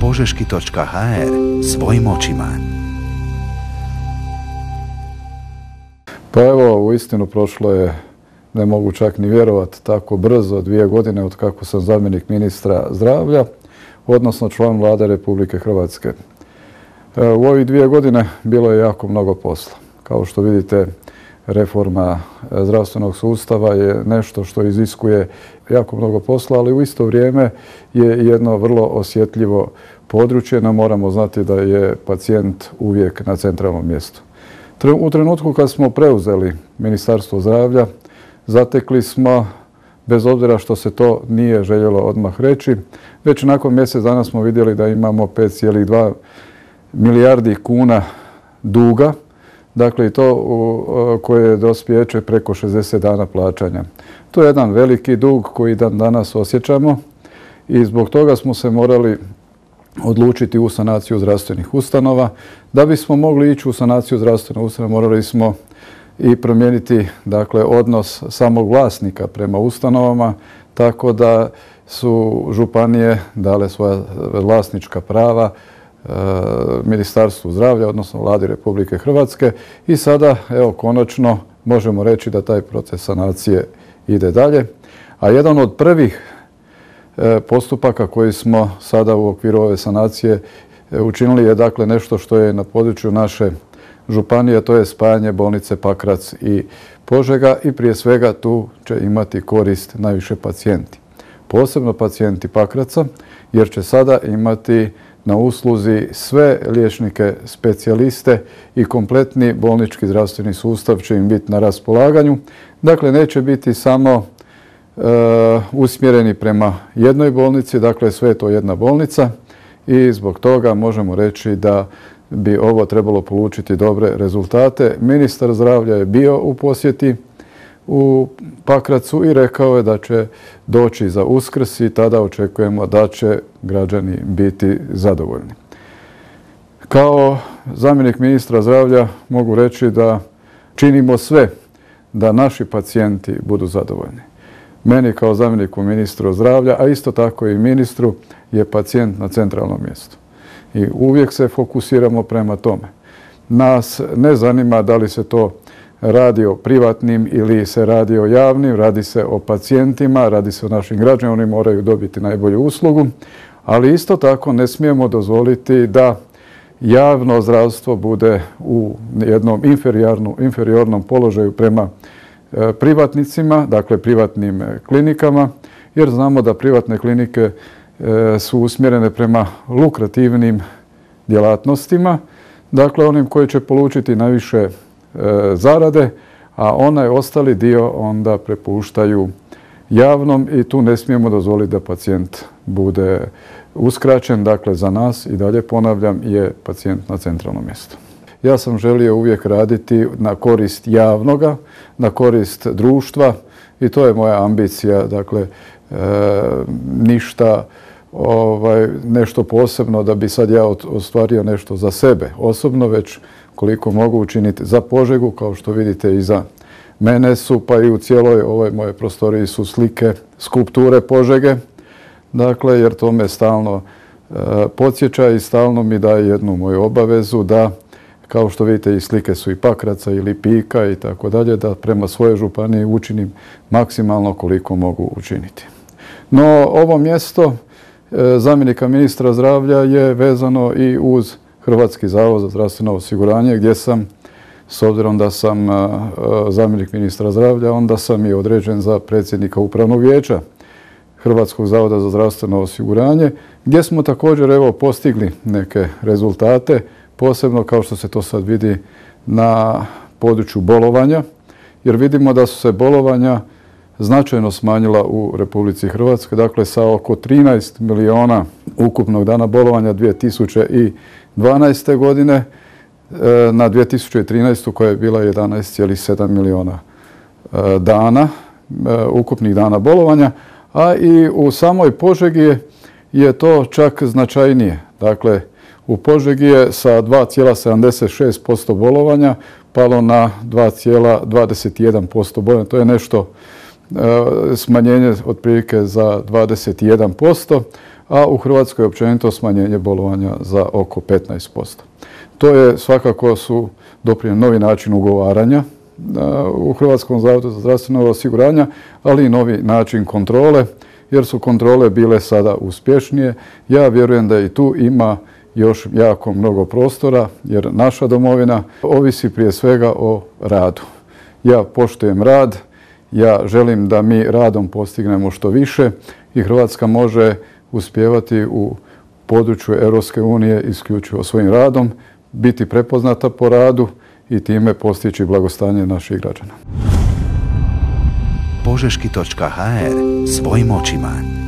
požeški.hr svojim očima. Pa evo, uistinu prošlo je, ne mogu čak ni vjerovati, tako brzo, 2 godine od kako sam zamjenik ministra zdravlja, odnosno član Vlade Republike Hrvatske. U ovih 2 godine bilo je jako mnogo posla. Kao što vidite, reforma zdravstvenog sustava je nešto što iziskuje jako mnogo posla, ali u isto vrijeme je jedno vrlo osjetljivo područje. No, moramo znati da je pacijent uvijek na centralnom mjestu. U trenutku kad smo preuzeli Ministarstvo zdravlja, zatekli smo, bez obzira što se to nije željelo odmah reći, već nakon mjesec dana smo vidjeli da imamo 5,2 milijardi kuna duga, dakle i to koje dospjeće preko 60 dana plaćanja. To je jedan veliki dug koji dan danas osjećamo i zbog toga smo se morali odlučiti u sanaciju zdravstvenih ustanova. Da bismo mogli ići u sanaciju zdravstvenih ustanova, morali smo i promijeniti, dakle, odnos samog vlasnika prema ustanovama, tako da su županije dale svoja vlasnička prava Ministarstvu zdravlja, odnosno Vladi Republike Hrvatske, i sada, evo, konačno možemo reći da taj proces sanacije ide dalje. A jedan od prvih postupaka koji smo sada u okviru ove sanacije učinili je, dakle, nešto što je na području naše županije, to je spajanje bolnice Pakrac i Požega, i prije svega tu će imati korist najviše pacijenti. Posebno pacijenti Pakraca, jer će sada imati na usluzi sve liječnike specijaliste i kompletni bolnički zdravstveni sustav će im biti na raspolaganju. Dakle, neće biti samo usmjereni prema jednoj bolnici, dakle sve je to jedna bolnica i zbog toga možemo reći da bi ovo trebalo polučiti dobre rezultate. Ministar zdravlja je bio u posjeti u Pakracu i rekao je da će doći za Uskrs i tada očekujemo da će građani biti zadovoljni. Kao zamjenik ministra zdravlja mogu reći da činimo sve da naši pacijenti budu zadovoljni. Meni kao zamjeniku ministra zdravlja, a isto tako i ministru, je pacijent na centralnom mjestu. I uvijek se fokusiramo prema tome. Nas ne zanima da li se to radi o privatnim ili se radi o javnim, radi se o pacijentima, radi se o našim građanima, oni moraju dobiti najbolju uslugu, ali isto tako ne smijemo dozvoliti da javno zdravstvo bude u jednom inferiornom položaju prema privatnicima, dakle privatnim klinikama, jer znamo da privatne klinike su usmjerene prema lukrativnim djelatnostima, dakle onim koji će polučiti najviše zarade, a onaj ostali dio onda prepuštaju javnom i tu ne smijemo dozvoliti da pacijent bude uskraćen. Dakle, za nas, i dalje ponavljam, je pacijent na centralnom mjestu. Ja sam želio uvijek raditi na korist javnoga, na korist društva i to je moja ambicija. Dakle, ništa nešto posebno da bi sad ja ostvario nešto za sebe osobno, već koliko mogu učiniti za Požegu. Kao što vidite, iza mene su, pa i u cijeloj ovoj moje prostoriji su slike, skulpture Požege, dakle, jer to me stalno podsjeća i stalno mi daje jednu moju obavezu da, kao što vidite, i slike su i Pakraca i Lipika i tako dalje, da prema svojoj županiji učinim maksimalno koliko mogu učiniti. No, ovo mjesto zamjenika ministra zdravlja je vezano i uz Hrvatski zavod za zdravstveno osiguranje, gdje sam, s obzirom da sam zamjenik ministra zdravlja, onda sam i određen za predsjednika Upravnog vijeća Hrvatskog zavoda za zdravstveno osiguranje, gdje smo također, evo, postigli neke rezultate, posebno kao što se to sad vidi na području bolovanja, jer vidimo da su se bolovanja značajno smanjila u Republici Hrvatskoj, dakle sa oko 13 miliona ukupnog dana bolovanja 2012. godine na 2013. koja je bila 11,7 miliona dana, ukupnih dana bolovanja, a i u samoj Požegi je to čak značajnije. Dakle, u Požegi je sa 2,76% bolovanja palo na 2,21% bolovanja. To je nešto smanjenje otprilike za 21%, a u Hrvatskoj općenito smanjenje bolovanja za oko 15%. To je svakako su doprinijeli novi način ugovaranja u Hrvatskom zavodu za zdravstveno osiguranje, ali i novi način kontrole, jer su kontrole bile sada uspješnije. Ja vjerujem da i tu ima još jako mnogo prostora, jer naša domovina ovisi prije svega o radu. Ja poštujem rad, ja želim da mi radom postignemo što više i Hrvatska može uspijevati u području Europske unije isključivo svojim radom, biti prepoznata po radu i time postići blagostanje naših građana. Požeški.hr svojim očima.